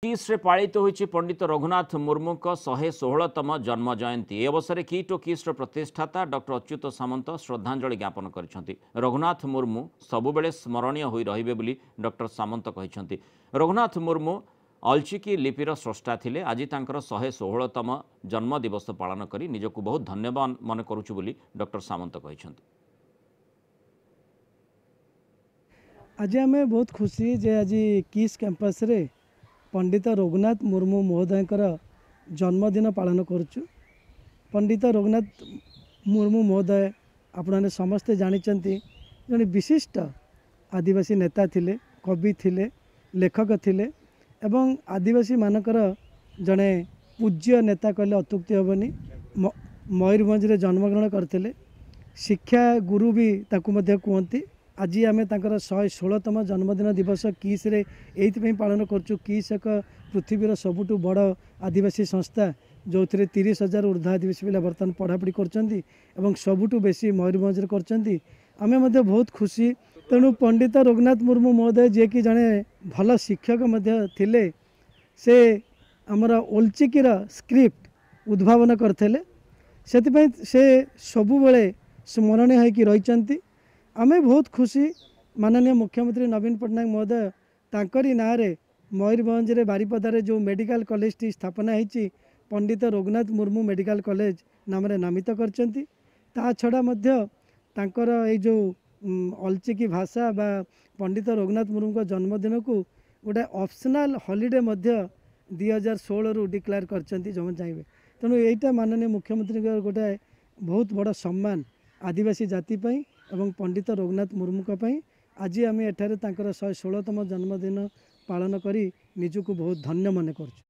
କିସ୍ରେ ପାଳିତ ହୋଇଛି ପଣ୍ଡିତ ରଘୁନାଥ ମୁର୍ମୁଙ୍କ 116ତମ ଜନ୍ମ ଜୟନ୍ତୀ। ଏ ଅବସରରେ କିଟ୍ ଓ କିସ୍ର ପ୍ରତିଷ୍ଠାତା ଡକ୍ଟର ଅଚ୍ୟୁତ ସାମନ୍ତ ଶ୍ରଦ୍ଧାଞ୍ଜଳି ଜ୍ଞାପନ କରିଛନ୍ତି। ରଘୁନାଥ ମୁର୍ମୁ ସବୁବେଳେ ସ୍ମରଣୀୟ ହୋଇ ରହିବେ ବୋଲି ଡକ୍ଟର ସାମନ୍ତ କହିଛନ୍ତି। ରଘୁନାଥ ମୁର୍ମୁ ଅଲଚିକି ଲିପିର ସ୍ରଷ୍ଟା ଥିଲେ। ଆଜି ତାଙ୍କର 116ତମ ଜନ୍ମଦିବସ ପାଳନ କରି ନିଜକୁ ବହୁତ ଧନ୍ୟବାନ ମନେ କରୁଛୁ ବୋଲି ଡକ୍ଟର ସାମନ୍ତ କହିଛନ୍ତି। ଆଜି ଆମେ ବହୁତ ଖୁସି ଯେ ଆଜି କିସ୍ କ୍ୟାମ୍ପସ୍ରେ ପଣ୍ଡିତ ରଘୁନାଥ ମୁର୍ମୁ ମହୋଦୟଙ୍କର ଜନ୍ମଦିନ ପାଳନ କରୁଛୁ। ପଣ୍ଡିତ ରଘୁନାଥ ମୁର୍ମୁ ମହୋଦୟ ଆପଣମାନେ ସମସ୍ତେ ଜାଣିଛନ୍ତି, ଜଣେ ବିଶିଷ୍ଟ ଆଦିବାସୀ ନେତା ଥିଲେ, କବି ଥିଲେ, ଲେଖକ ଥିଲେ ଏବଂ ଆଦିବାସୀମାନଙ୍କର ଜଣେ ପୂଜ୍ୟ ନେତା କହିଲେ ଅତ୍ୟୁକ୍ତି ହେବନି। ମୟୂରଭଞ୍ଜରେ ଜନ୍ମଗ୍ରହଣ କରିଥିଲେ, ଶିକ୍ଷା ଗୁରୁ ବି ତାକୁ ମଧ୍ୟ କୁହନ୍ତି। ଆଜି ଆମେ ତାଙ୍କର 116ତମ ଜନ୍ମଦିନ ଦିବସ କିସ୍ରେ ଏଇଥିପାଇଁ ପାଳନ କରୁଛୁ। କିସ୍ ଏକ ପୃଥିବୀର ସବୁଠୁ ବଡ଼ ଆଦିବାସୀ ସଂସ୍ଥା, ଯେଉଁଥିରେ 30,000 ଉର୍ଦ୍ଧ୍ୱ ଆଦିବାସୀ ପିଲା ବର୍ତ୍ତମାନ ପଢ଼ାପଢ଼ି କରୁଛନ୍ତି ଏବଂ ସବୁଠୁ ବେଶୀ ମୟୂରଭଞ୍ଜରେ କରୁଛନ୍ତି। ଆମେ ମଧ୍ୟ ବହୁତ ଖୁସି। ତେଣୁ ପଣ୍ଡିତ ରଘୁନାଥ ମୁର୍ମୁ ମହୋଦୟ ଯିଏକି ଜଣେ ଭଲ ଶିକ୍ଷକ ମଧ୍ୟ ଥିଲେ, ସେ ଆମର ଓଲଚିକିର ସ୍କ୍ରିପ୍ଟ ଉଦ୍ଭାବନ କରିଥିଲେ, ସେଥିପାଇଁ ସେ ସବୁବେଳେ ସ୍ମରଣୀୟ ହେଇକି ରହିଛନ୍ତି। ଆମେ ବହୁତ ଖୁସି। ମାନନୀୟ ମୁଖ୍ୟମନ୍ତ୍ରୀ ନବୀନ ପଟ୍ଟନାୟକ ମହୋଦୟ ତାଙ୍କରି ନାଁରେ ମୟୂରଭଞ୍ଜରେ ବାରିପଦାରେ ଯେଉଁ ମେଡ଼ିକାଲ କଲେଜଟି ସ୍ଥାପନା ହେଇଛି, ପଣ୍ଡିତ ରଘୁନାଥ ମୁର୍ମୁ ମେଡ଼ିକାଲ କଲେଜ ନାମରେ ନାମିତ କରିଛନ୍ତି। ତା ଛଡ଼ା ମଧ୍ୟ ତାଙ୍କର ଏଇ ଯେଉଁ ଅଲଚିକି ଭାଷା ବା ପଣ୍ଡିତ ରଘୁନାଥ ମୁର୍ମୁଙ୍କ ଜନ୍ମଦିନକୁ ଗୋଟେ ଅପସନାଲ୍ ହଲିଡ଼େ ମଧ୍ୟ 2016ରୁ ଡିକ୍ଲେୟାର କରିଛନ୍ତି ଯେଉଁମାନେ ଚାହିଁବେ। ତେଣୁ ଏଇଟା ମାନନୀୟ ମୁଖ୍ୟମନ୍ତ୍ରୀଙ୍କର ଗୋଟେ ବହୁତ ବଡ଼ ସମ୍ମାନ ଆଦିବାସୀ ଜାତି ପାଇଁ ଏବଂ ପଣ୍ଡିତ ରଘୁନାଥ ମୁର୍ମୁଙ୍କ ପାଇଁ। ଆଜି ଆମେ ଏଠାରେ ତାଙ୍କର 116ତମ ଜନ୍ମଦିନ ପାଳନ କରି ନିଜକୁ ବହୁତ ଧନ୍ୟ ମନେ କରୁଛୁ।